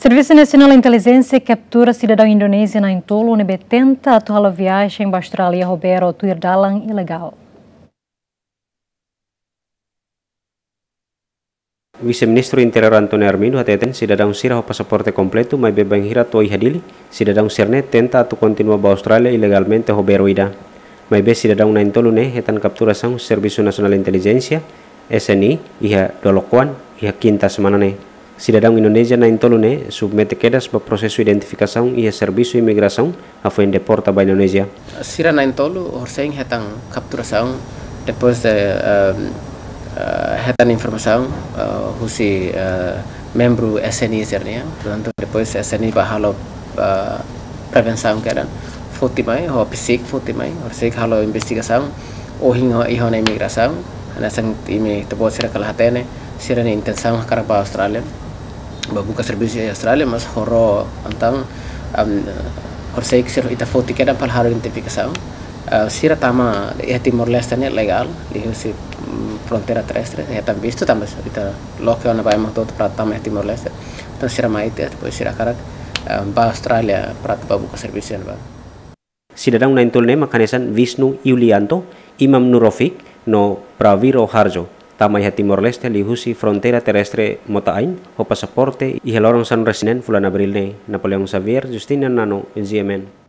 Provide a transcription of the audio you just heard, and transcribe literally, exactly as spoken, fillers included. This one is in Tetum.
Servisu Nasionál Intelijénsia kaptura sidadaun Indonézia na'in-tolu ne'ebé tenta atu halo viajen ba Austrália ho bero tuir dalan ilegál. Vise-Ministru Interiór António Armindo hateten sidadaun sira ho pasaporte kompletu maibé bainhira to'o iha Dili, sidadaun sira-ne'e tenta atu kontinua ba Austrália ilegalmente ho bero ida. Maibé sidadaun na'in-tolu ne'e hetan kapturasaun Servisu Nasionál Intelijénsia, S N I, iha Dolokoan, iha kinta semana ne'e. Sidadaun Indonézia na'in-tolu ne'e submete kedas ba prosesu identifikasaun iha servisu imigrasaun hafoin deporta ba Indonézia. Sira na'in-tolu horisehik hetan kapturasaun depois de, ehm, eh, hetan informasaun, eh, husi, eh, membru S N I sira-nian. Portantu, depois S N I bá halo, eh, prevensaun kedan. Foti mai, ho PSIK foti mai, horisehik halo investigasaun. Ohin ho iha ona imigrasaun, hanesan imi ita-boot sira kala hatene, sira-nia intensaun hakarak ba Austrália, bá buka servisu iha Austrália, mas ho ró entaun, am, horisehik sira ita foti kedan para halo identifikasaun. Ah, sira tama iha Timor-Leste ne'e legál, liuhusi, mm, fronteira terrestre, hetan vistu tanba ita loke ona ba ema hotu-hotu para tama iha Timor-Leste. Entaun sira mai tiha, depois sira hakarak, ah, ba Austrália para bá buka servisu iha ne'ebá. Sidadaun na'in-tolu ne'e mak hanesan Visnu Yulianto, Imam Nurovic, no Prawiro Harjo, tama iha Timor-Leste liuhusi fronteira terrestre Mota Ain, ho pasaporte iha loron sanulu-resin-neen fulan Abríl ne'e. Napoleão Xavier, Justina Nano, G M N.